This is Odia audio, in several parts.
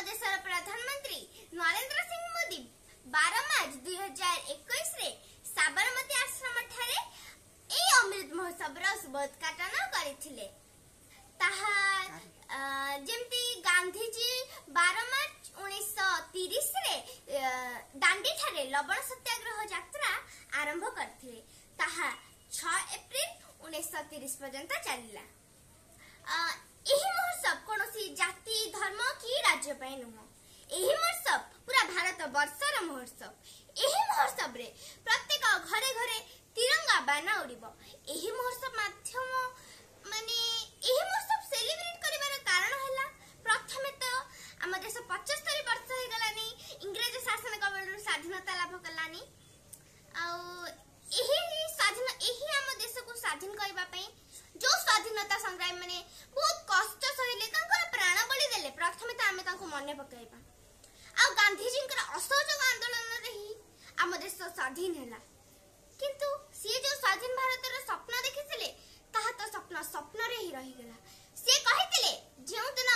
ଦେଶର ପ୍ରଧାନମନ୍ତ୍ରୀ ନରେନ୍ଦ୍ର ସିଂ ମୋଦି 12 ମାର୍ଚ୍ଚ 2021ରେ ସାବରମତୀ ଆଶ୍ରମ ଠାରେ ଏହି ଅମୃତ ମହୋତ୍ସବର ଶୁଭ ଉଦ୍ଘାଟନ କରିଥିଲେ। ତାହା ଯେମିତି ଗାନ୍ଧିଜୀ 12 ମାର୍ଚ୍ଚ 1930ରେ ଦାଣ୍ଡି ଠାରେ ଲବଣ ସତ୍ୟାଗ୍ରହ ଯାତ୍ରା ଆରମ୍ଭ କରିଥିଲେ, ତାହା 6 ଏପ୍ରିଲ 1930 ପର୍ଯ୍ୟନ୍ତ ଚାଲିଲା। ଏହି ମହୋତ୍ସବ କୌଣସି ଜାତି, ଧର୍ମ କି ରାଜ୍ୟ ପାଇଁ ନୁହଁ। ଏହି ମହୋତ୍ସବ ପୁରା ଭାରତ ବର୍ଷର ମହୋତ୍ସବ। ଏହି ମହୋତ୍ସବରେ ପ୍ରତ୍ୟେକ ଘରେ ଘରେ ତିରଙ୍ଗା ବାନା ଉଡ଼ିବ। ଏହି ମହୋତ୍ସବ ମାଧ୍ୟମ ମାନେ ଏହି ମହୋତ୍ସବ ସେଲିବ୍ରେଟ କରିବାର କାରଣ ହେଲା, ପ୍ରଥମେ ତ ଆମ ଦେଶ 75 ବର୍ଷ ହେଇଗଲାନି ଇଂରେଜ ଶାସନ କବଳରୁ ସ୍ୱାଧୀନତା ଲାଭ କଲାନି। ଆଉ ଏହି ସ୍ୱାଧୀନ ଏହି ଆମ ଦେଶକୁ ସ୍ୱାଧୀନ କରିବା ପାଇଁ ଯୋଉ ସ୍ୱାଧୀନତା ସଂଗ୍ରାମୀ ମାନେ ବହୁତ କଷ୍ଟ ସହିଲେ, ତାଙ୍କର ପ୍ରାଣ ବଳି ଦେଲେ, ପ୍ରଥମେ ତ ଆମେ ତାଙ୍କୁ ମନେ ପକାଇବା। ଆଉ ଗାନ୍ଧିଜୀଙ୍କର ଅସହଯୋଗ ଆନ୍ଦୋଳନରେ ହିଁ ଆମ ଦେଶ ସ୍ୱାଧୀନ ହେଲା। କିନ୍ତୁ ସିଏ ଯୋଉ ସ୍ୱାଧୀନ ଭାରତର ସ୍ୱପ୍ନ ଦେଖିଥିଲେ, ତାହା ତ ସ୍ୱପ୍ନ ସ୍ୱପ୍ନରେ ହିଁ ରହିଗଲା। ସିଏ କହିଥିଲେ, ଯେଉଁଦିନ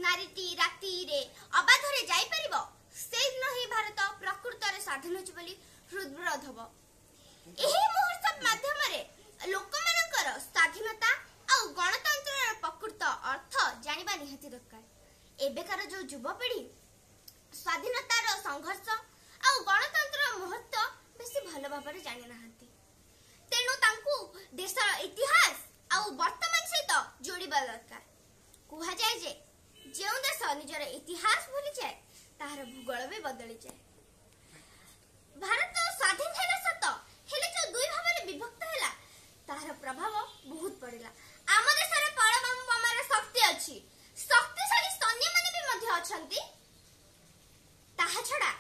ନାରୀଟି ରାତିରେ ଅବାଧରେ ଯାଇପାରିବ, ସେଇଦିନ ହିଁ ଭାରତ ପ୍ରକୃତରେ ସ୍ୱାଧୀନ ହେଉଛି ବୋଲି ହୃଦବୋଧ ହବ। ଏହି ମହୋତ୍ସବ ମାଧ୍ୟମରେ ଲୋକମାନଙ୍କର ସ୍ୱାଧୀନତା ଆଉ ଗଣତନ୍ତ୍ରର ପ୍ରକୃତ ଅର୍ଥ ଜାଣିବା ନିହାତି ଦରକାର। ଏବେକାର ଯୋଉ ଯୁବପିଢ଼ି ସ୍ୱାଧୀନତାର ସଂଘର୍ଷ ଆଉ ଗଣତନ୍ତ୍ରର ମହତ୍ଵ ବେଶୀ ଭଲ ଭାବରେ ଜାଣିନାହାନ୍ତି, ତେଣୁ ତାଙ୍କୁ ଦେଶର ଇତିହାସ ଆଉ ବର୍ତ୍ତମାନ ସହିତ ଯୋଡ଼ିବା ଦରକାର। କୁହାଯାଏ ଯେ ଯେଉଁ ଦେଶ ନିଜର ଇତିହାସ ଭୁଲିଯାଏ, ତାହାର ଭୂଗୋଳ ବି ବଦଳିଯାଏ। ଭାରତ ସ୍ୱାଧୀନ ହେଲା ସତ, ହେଲେ ଯୋଉ ଦୁଇ ଭାବରେ ବିଭକ୍ତ ହେଲା, ତାହାର ପ୍ରଭାବ ବହୁତ ପଡ଼ିଲା। ଆମ ଦେଶରେ ପରମାଣୁ ବୋମାର ଶକ୍ତି ଅଛି, ଶକ୍ତିଶାଳୀ ସୈନ୍ୟମାନେ ବି ମଧ୍ୟ ଅଛନ୍ତି। ତାହା ଛଡା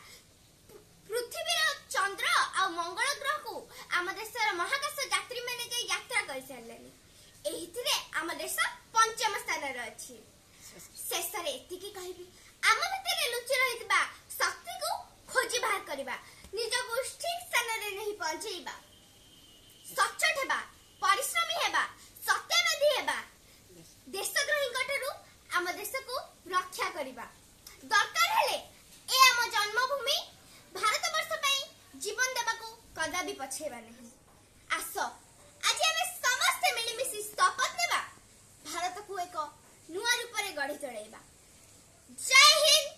ପୃଥିବୀର ଚନ୍ଦ୍ର ଆଉ ମଙ୍ଗଳ ଗ୍ରହକୁ ଆମ ଦେଶର ମହାକାଶ ଯାତ୍ରୀମାନେ ଯାଇ ଯାତ୍ରା କରିସାରିଲେଣି। ଏହିଥିରେ ଆମ ଦେଶ ପଞ୍ଚମ ସ୍ଥାନରେ ଅଛି। ଶେଷରେ ଏତିକି କହିବି, ଆମ ଭିତରେ ଲୁଚି ରହିଥିବା ଶକ୍ତିକୁ ଖୋଜି ବାହାର କରିବା, ନିଜକୁ ଠିକ ସ୍ଥାନରେ ନେଇ ପହଞ୍ଚେଇବା, ସଚ୍ଚୋଟ ହେବା, ପରିଶ୍ରମୀ ହେବା, ସତ୍ୟବାଦୀ ହେବା, ଦେଶଦ୍ରୋହୀଙ୍କ ଠାରୁ ଆମ ଦେଶକୁ ରକ୍ଷା କରିବା, ଦରକାର ହେଲେ ଏ ଆମ ଜନ୍ମଭୂମି ଭାରତ ବର୍ଷ ପାଇଁ ଜୀବନ ଦେବାକୁ କଦାପି ପଛେଇବା ନାହିଁ। ଆସ ଆଜି ଆମେ ସମସ୍ତେ ମିଳିମିଶି ଶପଥ ନେବା, ଭାରତକୁ ଏକ ନୂଆ ରୂପରେ ଗଢ଼ି ତୋଳାଇବା। ଜୟ ହିନ୍ଦ।